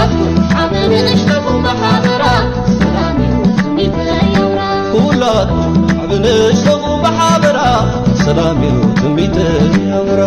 ዓብ ንእሽተኹም ብሓበራ ሰላም እዩ ትምኒተይ ኣውራ። ኩላትኩም ዓብ ንእሽተኹም ብሓበራ ሰላም እዩ ትምኒተይ ኣውራ።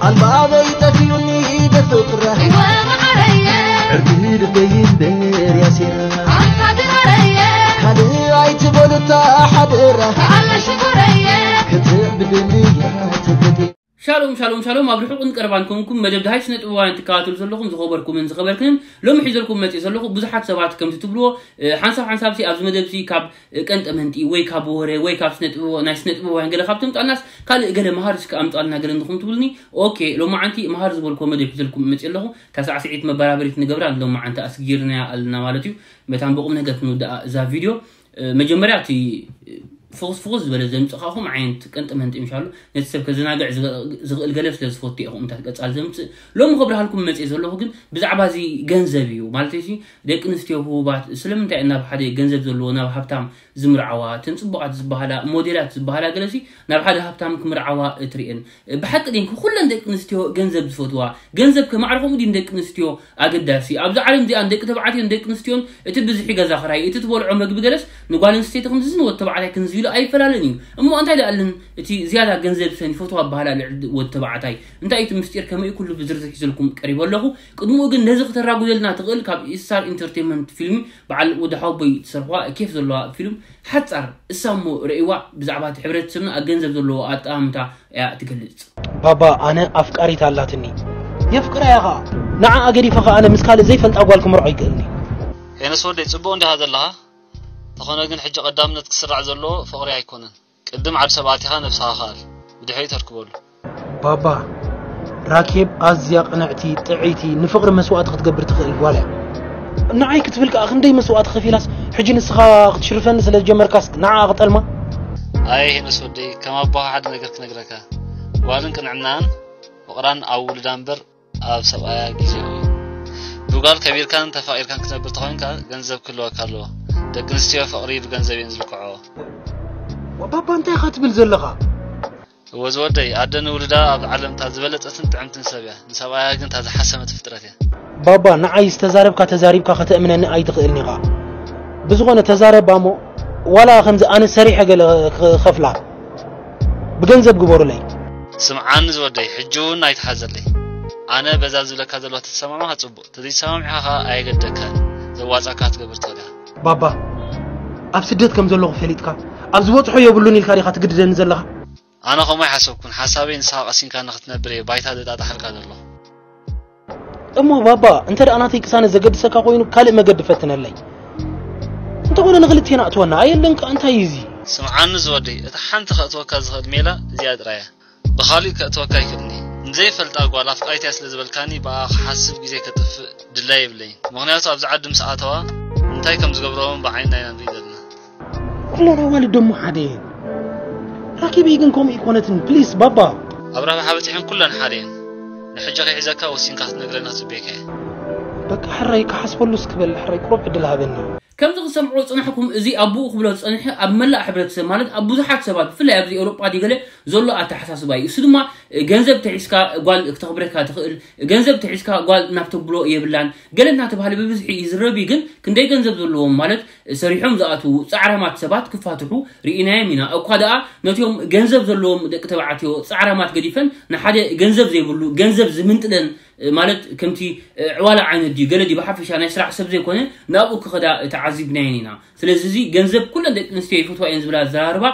ኣልባበይ ጠፊኡኒ ደፍቅራ ወመዓረየ ዕርዲ ልበይ እምበር ያሲራ ኣንታ ድራረየ ካልእ ኣይትበሉታ ሓደራ ኣለ ሽኮረየ ክትዕብድኒ እያ ትብለኒ። ሻሎም ሻሎም ሻሎም፣ ኣብ ርሑቕን ቀረባን ኮንኩም መደብ ደሃይ ስነ ጥበባውያን ትከታተሉ ዘለኹም ዝኸበርኩምን ዝኸበርክንን፣ ሎሚ ሒዘልኩም መፅእ ዘለኹ ብዙሓት ሰባት ከምቲ ትብልዎ፣ እ፣ ሓንሳብ ሓንሳብሲ ኣብዚ መደብሲ ካብ፣ እ፣ ቀንጠመንጢ ወይ ካብ ወረ ወይ ካብ ስነ ጥበብ፣ ናይ ስነ ጥበባውያን ገለ ካብ ተምጣልናስ ካልእ ገለ መሃር እስከ ኣምጣልና ገለ እንድኹም ትብልኒ። ኦኬ፣ ሎማዓንቲ መሃር ዝበልኩዎ መደብ ሒዘልኩም መፅእ ኣለኹ። እታ ሳዕስዒት መበራበሪት ንገብራ ሎማዓንቲ ኣስጊርናያ ኣለና ማለት እዩ። መታን ብቑም ነገር ክንውድኣ እዛ ቪድዮ። እ፣ መጀመርያ እቲ፣ እ፣ ፍኹስ ፍኹስ ዝበለ ዘምጽእካኹም ዓይነት ቀንጢ መንጢ ምሻሉ ነቲ ሰብ ከዘናግዕ ዝኸ-፣ ዝኽእል ገለ ስለ ዝፈቱ እየ ከምኡታት ቀጻሊ ዘምጽእ። ሎሚ ከብርሃልኩም መጽእ ዘለኹ ግን ብዛዕባ እዚ ገንዘብ እዩ። ማለት እዚ ደቂ ኣንስትዮ ህቡባት ስለምንታይ ናብ ሓደ ገንዘብ ዘለዎ ናብ ሃብታም ዝምርዓዋ፣ እተን ጽቡቓት ዝበሃላ ሞዴላት ዝበሃላ ገለሲ ናብ ሓደ ሃብታም ክምርዓዋ እትርእየን። ብሓቂ ድን ኩለን ደቂ ኣንስትዮ ገንዘብ ዝፈትዋ? ገንዘብ ከማዕርኹም ድን ደቂ ኣንስትዮ ኣገዳሲ? ኣብዚ ዓለም እዚኣ ንደቂ ተባዕትዮን ደቂ ኣንስትዮን እቲ ብዝሒ ገዛ ክራይ፣ እቲ ትበልዖ መግቢ ገለስ ንጓል ኣንስተይቲ ክንድዚ ንወዲ ተባዕታይ ክንዚ ኢሉ ኣይፈላለን እዩ። እሞ እንታይ ደኣልን እቲ ዝያዳ ገንዘብ ሰን ይፈትዋ ኣበሃላ ልዕሊ ወዲ ተባዕታይ? እንታይ እቲ ምስጢር? ከመይ ኩሉ ብዝርዝር ሒዘልኩም ቀሪበ ኣለኹ። ቅድሚኡ ግን ነዚ ክተራጉደልና ትኽእል ካብ ኢስታር ኢንተርቴንመንት ፊልም በዓል ወዲ ሓወቦይ ትሰርሕዋ ኬፍ ዘለዋ ፊልም ሓጻር እሳ እሞ ረእይዋ ብዛዕባ እቲ ሕብረተሰብና ኣብ ገንዘብ ዘለዎ ኣጠማምታ እያ ትገልጽ። ባባ ኣነ ኣፍቃሪት ኣላትኒ። የፍቅራ እያ ኸኣ። ንዓኣ ገዲፈ ኸኣ ኣነ ምስ ካልእ ዘይፈልጣ ጓል ክምርዖ ይክእልኒ። ሄኖስ ወደይ ጽቡቕ እንዲኻ ዘለኻ። ተኾነ ግን ሕጂ ቀዳምነት ክስራዕ ዘለዎ ፍቕሪ ኣይኮነን። ቅድም ዓድ ሰብ ኣቲኻ ነብስኻ ከኣል። ብድሕሪኡ ተርክበሉ። ባባ ራኬብ ኣዝያ ቅንዕቲ፣ ጥዕይቲ፣ ንፍቕሪ መስዋእቲ ክትገብር ትኽእል ጓል እያ። ንዓይ ክትብል ከኣ ክንደይ መስዋእቲ ከፊላስ፣ ሕጂ ንስኻ ክትሽርፈኒ ስለ ዝጀመርካስ ንዓኣ ክጠልማ? ኣየ ሄኖስ ወደይ፣ ከም ኣቦኻ ሓደ ነገር ክነግረካ። ጓልን ቅንዕናን ፍቕራን ኣብ ውሉዳ እምበር ኣብ ሰብኣያ ግዜኡ እዩ። ብጓል ከቢርካን ተፋቒርካን ክትነብር ተኾይንካ ገንዘብ ክህልወካ ኣለዎ። ደቂ ኣንስትዮ ፍቕሪ ብገንዘብ እየን ዝልክዕኦ። ባባ እንታይ ኢኻ ትብል ዘለኻ? እወ ዝወደይ፣ ኣደ ንውሉዳ ኣብ ዓለም እታ ዝበለጸትን ጥዕምትን ሰብ እያ። ንሰብኣያ ግን እታ ዝሓሰመት ፍጥረት እያ። ባባ ንዓይ ዝተዛረብካ ተዛሪብካ ከተእምነኒ ኣይትኽእልን ኢኻ። ብዝኾነ ተዛረባ እሞ ዋላ ከምዚ ኣነ ሰሪሐ ገለ ክኸፍላ ብገንዘብ ግበሩለይ። ስምዓኒ ዝወደይ፣ ሕጂ እውን ኣይትሓዘለይ። ኣነ በዛ ዝብለካ ዘለዋ ተሰማማኻ ጽቡቕ፣ ተዘይሰማሚዕካ ከኣ ኣየገደካን። ዘዋጻካ ክትገብር ትኽእል ኢኻ። ባባ ኣብ ስደት ከም ዘለኹ ፈሊጥካ ኣብ ዝበጽሖ የብሉን ኢልካ ዲኻ ትግድደኒ ዘለኻ? ኣነ ከምኡ ኣይሓሰብኩን። ሓሳበይ ንስኻ ቀሲንካ ንኽትነብር እየ ባይታ ዘጣጣሓልካ ዘለኹ። እሞ ባባ እንተ ደኣ ናተይ ቅሳነት ዘገድሰካ ኮይኑ ካልእ መገዲ ፈትነለይ። እንተኾነ ንኽልቴና እትወና ኣየለን ከኣ እንታይ እዩ እዚ? ስምዓኒ ዝወደይ፣ እታ ሓንቲ ከእትወካ ዝኽእል ሜላ እዚኣ ጥራይ እያ። ብኻሊእ ከእትወካ ኣይክእልኒ። ንዘይፈልጣ ጓል ኣፍቃሪት እያ ስለ ዝበልካኒ ብኣ ክሓስብ ግዜ ከጥፍእ ድላይ የብለይን። ምኽንያቱ ኣብዚ ዓዲ ምስ ኣተዋ እንታይ ከም ዝገብርኦም ብዓይንና ኢና ንርኢ ዘለና። ኩለን ኣዋልድ ደሞ ሓደ እየን። ራኪበይ ግን ከምኡ ኣይኮነትን። ፕሊስ ባባ። ኣብ ረብሓ በጺሐን ኩለን ሓደ እየን። ንሕጂ ከይሕዘካ ወሲንካ ክትነግረና ጽቤካ እየ። በቃ ሕራይ ክሓስበሉ እስክበል ሕራይ ቁሩብ ዕድል ሃበኒ። ከምዚ ክሰምዖ ዝጸናሕኩም እዚ ኣቦኡ ክብሎ ዝጸንሐ ኣብ መላእ ሕብረተሰብ ማለት ኣብ ብዙሓት ሰባት ብፍላይ ኣብዚ ኤውሮጳ ድዩ ገለ ዘሎ ኣተሓሳስባ እዩ። እሱ ድማ ገንዘብ ተሒዝካ ጓል ክተኽብረካ ትኽእል፣ ገንዘብ ተሒዝካ ጓል ናብ ተብሎ የብላን ገለ እናተባህለ ብብዝሒ ይዝረብ እዩ። ግን ክንደይ ገንዘብ ዘለዎም ማለት ሰሪሖም ዝኣትዉ ጻዕራማት ሰባት ክፋትሑ ርኢናዮም ኢና። እኳ ደኣ ነቲኦም ገንዘብ ዘለዎም ደቂ ተባዕትዮ ጻዕራማት ገዲፈን ንሓደ ገንዘብ ዘይብሉ ገንዘብ ዝምንጥለን ማለት ከምቲ ዕዋላ ዓይነት ድዩ ገለ ድዩ ብሓፈሻ ናይ ስራሕ ሰብ ዘይኮነ ናብኡ ክኸዳ ተዓዚብናየን ኢና። ስለዚ እዚ ገንዘብ ኩለን ደቂ ኣንስትዮ ይፈትዋ እየን ዝብላ ኣዘራርባ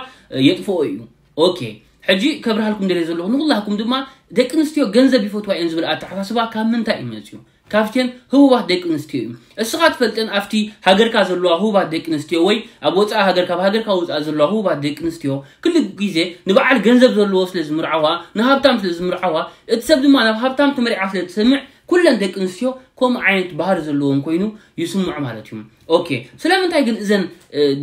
የጥፍኦ እዩ። ኦኬ፣ ሕጂ ከብርሃልኩም ደልየ ዘለኹ ንኹላኩም ድማ ደቂ ኣንስትዮ ገንዘብ ይፈትዋ እየን ዝብል ኣተሓሳስባ ካብ ምንታይ እዩ መፅዩ? ካብተን ህቡባት ደቂ ኣንስትዮ እዩ። እስኻ ትፈልጠን ኣብቲ ሃገርካ ዘለዋ ህቡባት ደቂ ኣንስትዮ ወይ ኣብ ወፃኢ ሃገር ካብ ሃገርካ ወፃኢ ዘለዋ ህቡባት ደቂ ኣንስትዮ ክሉ ግዜ ንበዓል ገንዘብ ዘለዎ ስለ ዝምርዓዋ ንሃብታም ስለ ዝምርዓዋ እቲ ሰብ ድማ ናብ ሃብታም ተመሪዓ ስለ ትሰምዕ ኩለን ደቂ ኣንስትዮ ከምኡ ዓይነት ባህሪ ዘለዎም ኮይኑ ይስምዑ ማለት እዩ። ኦኬ ስለምንታይ ግን እዘን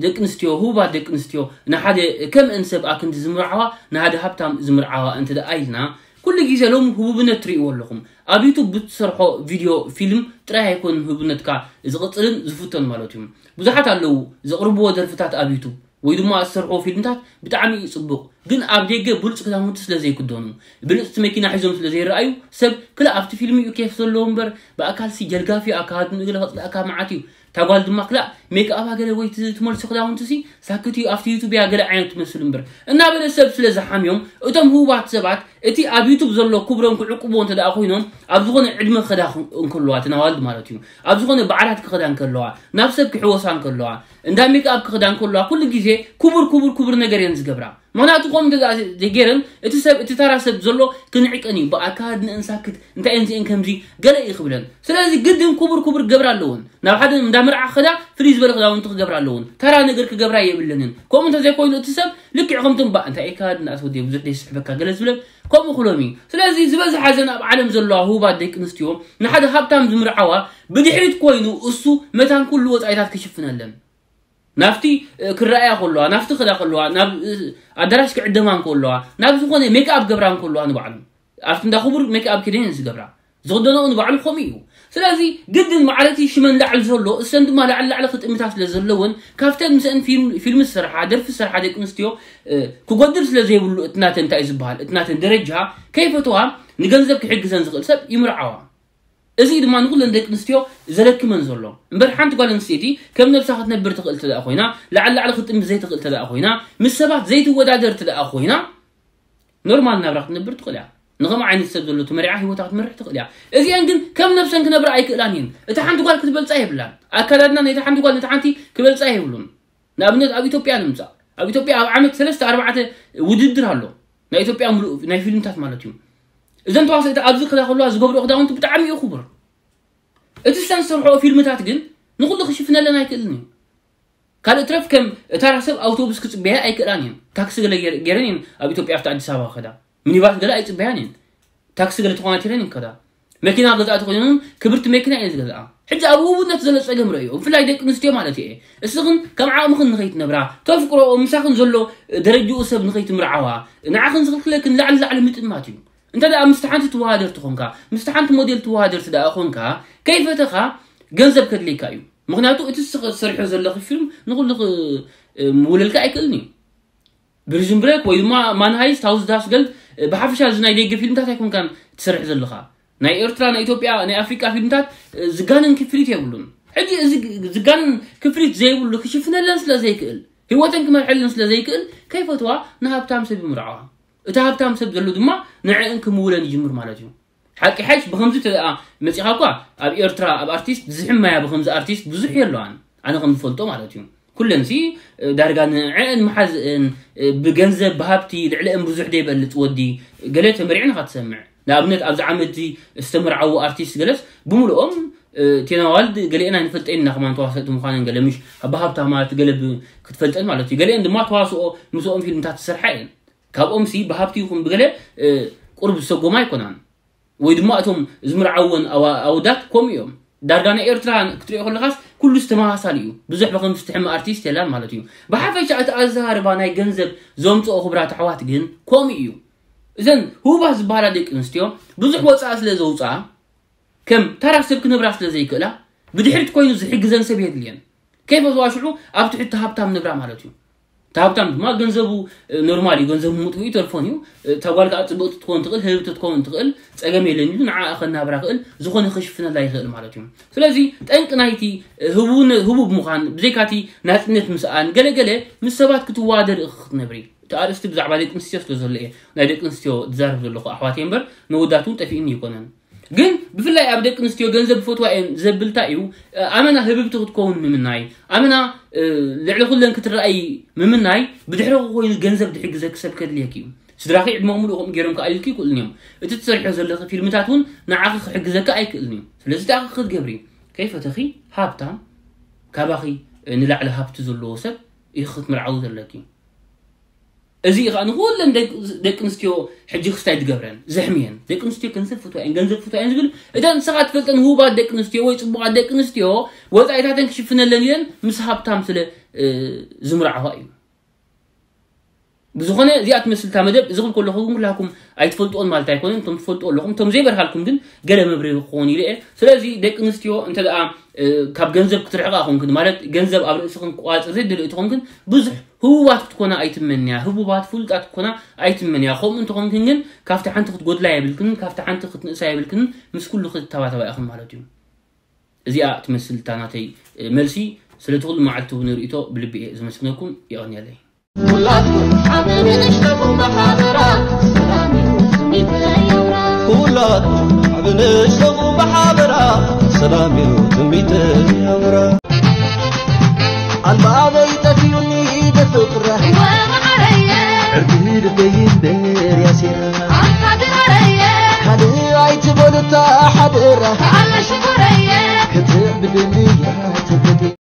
ደቂ ኣንስትዮ ህቡባት ደቂ ኣንስትዮ ንሓደ ከምእን ሰብ ኣክንዲ ዝምርዓዋ ንሓደ ሃብታም ዝምርዓዋ እንተ ደኣ ኢልና ኩሉ ግዜ ሎም ህቡብነት ትርእይዎ ኣለኹም ኣብ ዩቱብ ብትሰርሖ ቪድዮ ፊልም ጥራይ ኣይኮንን ህቡብነትካ ዝቕጽልን ዝፍቶን ማለት እዩ። ብዙሓት ኣለዉ ዘቕርብዎ ደርፍታት ኣብ ዩቱብ ወይ ድማ ዝሰርሕዎ ፊልምታት ብጣዕሚ እዩ ጽቡቕ ግን ኣብ ደገ ብሉፅ ክዳውንቲ ስለ ዘይክደኑ፣ ብልፅቲ መኪና ሒዞም ስለ ዘይረኣዩ፣ ሰብ ክላ ኣብቲ ፊልም እዩ ኬፍ ዘለዎ እምበር፣ ብኣካልሲ ጀልጋፍ እዩ፣ ኣካላቱ ንእግሪ ከፅላእካ መዓት እዩ። እታ ጓል ድማ ክላ ሜክኣባ ገለ ወይ ት- ትመልሶ ክዳውንቲ ሲ ሳክት እዩ፣ ኣብቲ ዩቱብ እያ ገለ ዓይነት ትመስል እምበር እናበለ ሰብ ስለ ዝሓምዮም፣ እቶም ህቡባት ሰባት እቲ ኣብ ዩቱብ ዘሎ ክብሮም ክዕቅብዎ እንተ ደኣ ኮይኖም፣ ኣብ ዝኾነ ዕድመ ክኸዳ ክን- እንከለዋ፣ እተን ኣዋልድ ማለት እዩ፣ ኣብ ዝኾነ በዓላት ክኸዳ እንከለዋ፣ ናብ ሰብ ክሕወሳ እንከለዋ፣ እንዳ ሜክኣፕ ክኸዳ እንከለዋ፣ ኩሉ ግዜ ክቡር ክቡር ክቡር ነገር እየን ዝገብራ። ምኽንያቱ ከምኡ እንተ ደኣ ዘይገይረን፣ እቲ ሰብ እቲ ተራ ሰብ ዘሎ ክንዕቀን እዩ፣ ብኣካል ንእንሳክት እንታይ እየን እዚአን ከምዚ ገለ እዩ ክብለን። ስለዚ ግድን ክቡር ክቡር ክገብራ ኣለወን። ናብ ሓደ እንዳ መርዓ ክኸዳ ፍልይ ዝበለ ክዳውንቲ ክገብራ ኣለወን። ተራ ነገር ክገብራ የብለንን። ከምኡ እንተዘይኮይኑ እቲ ሰብ ልክዕ ከምቶም ባ እንታይ እካ ድናት ወዲ ብዙሕ ደይ ስሕበካ ገለ ዝብለን ከምኡ ክሎም እዩ። ስለዚ ዝበዝሓ ዘን ኣብ ዓለም ዘለዋ ህቡባት ደቂ ኣንስትዮ ንሓደ ሃብታም ዝምርዓዋ ብድሕሪት ኮይኑ እሱ መታን ኩሉ ወፃኢታት ክሽፍነለን ናብቲ እ፣ ክረኣያ ከለዋ ናብቲ ክዳ ከለዋ ናብ እ፣ ኣዳራሽ ክዕደማ እንከለዋ ናብ ዝኾነ ሜክኣፕ ገብራ እንከለዋ ንባዕሉ ኣብቲ እንዳ ክቡር ሜክኣፕ ኪደን ዝገብራ ዝኽደነኦ ንባዕሉ ከምኡ እዩ። ስለዚ ግድን ማዕረቲ ሽመን ላዕሊ ዘሎ እሰን ድማ ላዕሊ ላዕሊ ክጥምታ ስለ ዘለወን ካብተን ምስአን ፊልም ፊልም ዝሰርሓ ደርፊ ዝሰርሓ ደቂ ኣንስትዮ እ፣ ክጎድል ስለ ዘይብሉ እቲ ናተን እንታይ እዩ ዝበሃል እቲ ናተን ደረጃ ከይፈተዋ ንገንዘብ ክሕግዘን ዝኽእል ሰብ ይምርዓዋ። እዚ ድማ ንኩለን ደቂ ኣንስትዮ ዘለክመን ዘሎ እምበር ሓንቲ ጓል ኣንስተይቲ ከም ነብሳ ክትነብር ትኽእል ትደኣ ኮይና ላዕሊ ላዕሊ ክትጥምት ዘይትኽእል ትደኣ ኮይና ምስ ሰባት ዘይትወዳደር ትደኣ ኮይና ኖርማል ናብራ ክትነብር ትኽእል እያ። ንኸም ዓይነት ሰብ ዘሎ ተመሪዓ ህይወታ ክትመርሕ ትኽእል እያ። እዚአን ግን ከም ነብሰን ክነብራ ኣይክእላን እየን። እታ ሓንቲ ጓል ክትበልፃ የብላን። ኣካዳድና ነታ ሓንቲ ጓል ነታ ሓንቲ ክበልፃ የብሉን። ንኣብነት ኣብ ኢትዮጵያ ንምፃእ ኣብ ኢትዮጵያ ኣብ ዓመት ሰለስተ ኣርባዕተ ውድድር ኣሎ ናይ ኢትዮጵያ ሙሉእ ናይ ፊልምታት ማለት እዩ። እዘን ተዋሰእቲ ኣብዚ ክዳ ከለዋ ዝገብሮ ክዳውንቲ ብጣዕሚ እዩ ክቡር። እቲ ሰን ዝሰርሖ ፊልምታት ግን ንኩሉ ክሽፍነለን ኣይክእልን እዩ። ካልእ ትረፍ ከም እታ ራሰብ ኣውቶቡስ ክፅበያ ኣይክእላን እየን። ታክሲ ገለ ገይረ- ገይረን እየን ኣብ ኢትዮጵያ ኣብቲ ኣዲስ ኣበባ ከዳ ሚኒባስ ገለ ኣይፅበያን እየን። ታክሲ ገለ ተኮናቲረን ይከዳ መኪና ገዛእቲ ኮይኖም ክብርቲ መኪና እየን ዝገዝኣ። ሕጂ ኣብ ውቡነት ዘሎ ፀገም ረእዮ ብፍላይ ደቂ ኣንስትዮ ማለት እየ። እስኽን ከም ዓቕምኽን ንኸይትነብራ ተፍቅሮ ምሳኽን ዘሎ ደረጅኡ ሰብ ንኸይትምርዓዋ ንዓኽን ዝኽልክለክን ላዕሊ ላዕሊ ምጥማት እዩ። እንተ ደኣ ምስቲ ሓንቲ ትወሃደር ትኾንካ ምስቲ ሓንቲ ሞዴል ትወሃደር ትደኣ ኾንካ ከይፈተኻ ገንዘብ ከድልየካ እዩ። ምክንያቱ እቲ ዝሰርሖ ዘለኺ ፊልም ንኩሉ ምውለልካ ኣይክእልን እዩ። ብሪዝን ብሬክ ወይ ድማ ማንሃይስት ሃውስ ዳስገል ብሓፈሻ እዚ ናይ ደገ ፊልምታት ኣይኮንካን ትሰርሕ ዘለኻ። ናይ ኤርትራ ናይ ኢትዮጵያ ናይ ኣፍሪቃ ፊልምታት ዝጋነን ክፍሊት የብሉን። ሕጂ እዚ ዝጋነን ክፍሊት ዘይብሉ ክሽፍነለን ስለ ዘይክእል ህይወተን ክመርሐለን ስለ ዘይክእል ከይፈትዋ ንሃብታም ሰብ ይምርዓዋ። እቲ ሃብታም ሰብ ዘሎ ድማ ንዕእን ክምውለን ይጅምር ማለት እዩ። ሓቂ ሓሽ ብከምዚ ተኣ መፂኻ እኳ ኣብ ኤርትራ ኣብ ኣርቲስት ዝሕመያ ብከምዚ ኣርቲስት ብዙሕ የለዋን ኣነ ከም ዝፈልጦ ማለት እዩ። ኩለን ሲ ዳርጋ ንዕእን መሓዝእን ብገንዘብ ብሃብቲ ልዕልአን ብዙሕ ደይበልፅ ወዲ ገለ ተመሪዕን ኢኻ ትሰምዕ። ንኣብነት ኣብዚ ዓመት እዚ ዝተመርዓዉ ኣርቲስት ገለስ ብምልኦም ቴናዋልድ ገሊአን ኣይንፈልጠን ኢና ከማን ተዋሰእቲ ምዃነን ገለ ምሽ ብሃብታማት ገለ ክትፈልጠን ማለት እዩ። ገሊአን ድማ ተዋስኦ ምስኦም ፊልምታት ዝሰርሓ እየን። ካብኦም ሲ ብሃብቲ ይኹን ብገለ ቁርብ ዝሰጎማ ኣይኮናን። ወይ ድማ እቶም ዝምርዓወን ኣወዳት ከምኡ እዮም። ዳርጋ ናይ ኤርትራ ክትሪኦ ከለኻስ ኩሉ ዝተመሳሳሊ እዩ። ብዙሕ ብከም ዝትሕመ ኣርቲስት የላን ማለት እዩ። ብሓፈሻ እቲ ኣዘራርባ ናይ ገንዘብ ዘምፅኦ ክብራት ኣሕዋት ግን ከምኡ እዩ። እዘን ህቡባት ዝበሃላ ደቂ ኣንስትዮ ብዙሕ ወፃኢ ስለ ዘውፅኣ ከም ተራ ሰብ ክነብራ ስለ ዘይክእላ ብድሕሪት ኮይኑ ዝሕግዘን ሰብ የድልየን። ከይፈትዋ ሽዑ ኣብ ትሕቲ ሃብታም ነብራ ማለት እዩ። እቲ ሃብታም ድማ ገንዘቡ ኖርማል እዩ። ገንዘቡ ምጥፍኡ ተልፎን እዩ። እታ ጓል ከዓ ፅብቕቲ ትኸውን ትኽእል ህብብቲ ትኸውን ትኽእል ፀገም የለን ኢሉ ንዓ ከናብራ ክእል ዝኾነ ክሽፍነላ ይኽእል ማለት እዩ። ስለዚ ጠንቂ ናይቲ ህቡብ ምዃን ብዘይካቲ ናፅነት ምስኣን ገለገለ ምስ ሰባት ክትዋደር ክትነብሪ እቲ ኣርእስቲ ብዛዕባ ደቂ ኣንስትዮ ስለ ዘሎ እየ ናይ ደቂ ኣንስትዮ ዝዛረብ ዘለኹ ኣሕዋት እምበር ነወዳት እውን ጠፊእኒ ይኮነን። ግን ብፍላይ ኣብ ደቂ ኣንስትዮ ገንዘብ ፈትዋ እየን ዘብልታ እዩ። ኣመና ህብብቲ ክትከውን ምምናይ ኣመና ልዕሊ ኩለን ክትረኣይ ምምናይ ብድሕረኹ ኮይኑ ገንዘብ ድሕግዘኪ ሰብ ከድልየኪ እዩ። ስድራኺ ዕድመ ሙሉእ ከምኡ ገይሮም ክኣልዩልኪ ይክእሉን እዮም። እቲ ትሰርሖ ዘለኺ ፊልምታት እውን ንዓኺ ክሕግዘካ ኣይክእልን እዩ። ስለዚ እቲ ክትገብሪ ከይፈተኺ ሃብታም ካባኺ ንላዕሊ ሃብቲ ዘለዎ ሰብ ኢኺ ክትምርዓዊ ዘለኪ። እዚ ከዓ ንኩለን ደቂ ኣንስትዮ ሕጂ ክስታይ ዝገብረን ዘሕምየን ደቂ ኣንስትዮ ገንዘብ ፍትዋ እየን ገንዘብ ፍትዋ እየን ዝብል እተን ንስኻ ትፈልጠን ህቡባት ደቂ ኣንስትዮ ወይ ፅቡቓት ደቂ ኣንስትዮ ወፃኢታተን ክሽፍነለን ኢለን ምስ ሃብታም ስለ ዝምርዓዋ እዩ። ብዝኾነ እዚኣ ትመስል እታ መደብ። እዚ ክብል ከለኹ ግን ኩላኩም ኣይትፈልጥዎን ማለት ኣይኮነን። እቶም ትፈልጥዎ ኣለኹም፣ እቶም ዘይበርሃልኩም ግን ገለ መብርሂ ክኸውን ኢለ እየ። ስለዚ ደቂ ኣንስትዮ እንተ ደኣ፣ እ፣ ካብ ገንዘብ ክትርሕቓ ኮንክን፣ ማለት ገንዘብ ኣብ ርእስኽን ክቋጽር ዘይደልዮ ተኾንክን፣ ብዙሕ ህቡባት ክትኮና ኣይትመንያ፣ ህቡባት ፍሉጣት ክትኮና ኣይትመንያ። ከምኡ እንተኾንክን ግን ካብቲ ሓንቲ ክትጎድላ የብልክን፣ ካብቲ ሓንቲ ክትንእሳ የብልክን፣ ምስ ኩሉ ክትተባተባ ኢኽን ማለት እዩ። እዚኣ ትመስል እታ ናተይ፣ እ፣ መልሲ። ስለቲ ኩሉ መዓልቲ እውን ርእይቶ ብልቢ እየ ዘመስግነኩም። የቐንየለይ። ኩላትኩም ዓቢ ንእሽተኹም ብሓበራ፣ ሰላም እዩ ትምኒተይ ኣምራ። ኩላትኩም ዓቢ ንእሽተኹም ብሓበራ፣ ሰላም እዩ ትምኒተይ ኣምራ። ኣልባበይ ጠፊኡኒ ደፍቅራ፣ ወመዓረየ። ዕርዲ ልበይ እምበር ያሲራ፣ ኣንታ ድራረየ። ካልእ ኣይትበሉታ ሓደራ፣ ኣለሽ እኮ